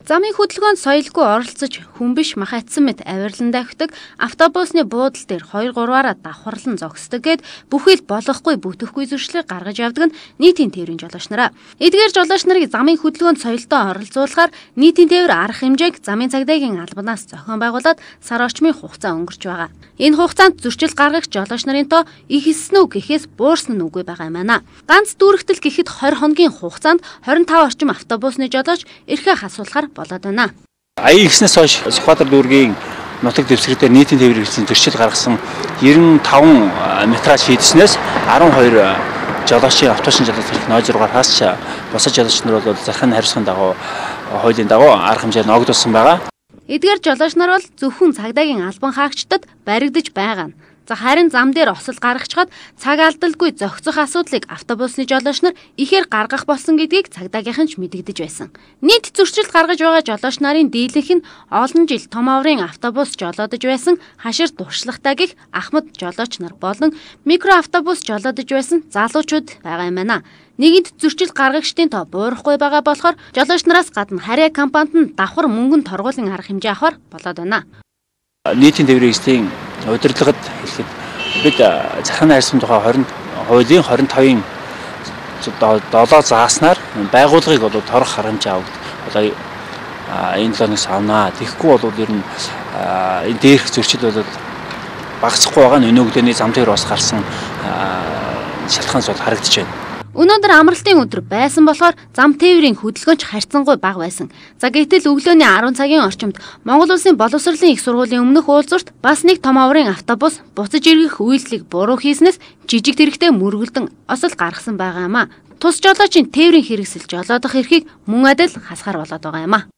Замын хөдөлгөөнд соёлгүй оролцож хүн биш махацсан мэт авирлан давхидаг автобусны буудал дээр 2-3-аараа давхарлан зогсдог гэд бүхэл болохгүй бүтэхгүй зуршлыг гаргаж явдаг нь нийтийн тээврийн жолооч нараа. Эдгээр жолооч нарыг замын хөдөлгөөнд соёлтой оролцуулахаар нийтийн тээвэр арга хэмжээг замын цагдаагийн албанаас зохион байгуулад сар орчмын хугацаа өнгөрч байгаа. Энэ хугацаанд зөрчил гаргах жолооч нарын тоо ихэлсэн үг гэхээс буурсан нь үгүй байгаа юм байна. Ганц дүүрэгтэл гэхэд 20 хоногийн хугацаанд 25 орчим автобусны жолооч эрхээ хасуулахаар болоод байна. Аян ихснээс хойш Сүхбаатар дүүргийн нутаг дэвсгэрээр нийтийн тээврийн зөрчил гаргасан 95 метраж шийдснээс 12 жолоочийн автобусны жолооч нойз руугаар хасч босож жолооч нар бол захын хариуцлагын дагуу хуулийн дагуу арга хэмжээ ногдуулсан байгаа. Эдгээр жолооч нар бол зөвхөн цагдаагийн албан хаагчдад баригдаж байгаа нь. За харин зам дээр осол гаргачаад цаг алдалгүй зохицох асуудлыг автобусны жолооч нар ихээр гаргах болсон гэдгийг цагдаагийнхан ч мэдэгдэж байсан. Нийт зөрчил гаргаж байгаа жолооч нарын дийлэнх нь олон жил том аврын автобус жолоодож байсан хашир туршлагатай гих Ахмад жолооч нар болон микроавтобус жолоодож байсан залуучууд байгаа юм байна. Нэгэнт зөрчил гаргагчдын тоо буурахгүй байгаа болохоор жолооч нараас гадна харьяа компанид нь давхар мөнгөнд торгуулийн арга хэмжээ авахар болоод байна. Нийтийн тээврийн эслийн удирдлагад хэлэхэд бид захиргааны хайрцагын тухай хуулийн 25-ын 7 зааснаар байгууллагыг бол торох арга хэмжээ авах одоо энэ 7-ноос авнаа. Тэгэхгүй бол ер нь энэ дээрх зөрчил бол багасахгүй байгаа нь өнөөгдөөний зам дээр бас гарсан шалтгаанс бол харагдаж байна. Өнөөдөр амралтын өдөр байсан болохоор зам тээврийн хөдөлгөөнч харьцангуй бага байсан. За гэтэл өглөөний 10 цагийн орчимд Монгол Улсын боловсролын их сургуулийн өмнөх уулзурт бас нэг том аврын автобус буцаж эргэх үйлдэлийг буруу хийснээс жижиг тэрэгтэй мөргөлдөн осол гаргасан байгаа юм а. Тус жолоочийн тээврийн хэрэгсэл жолоодох эрхийг мөн адил хасгаар болоод байгаа юм а.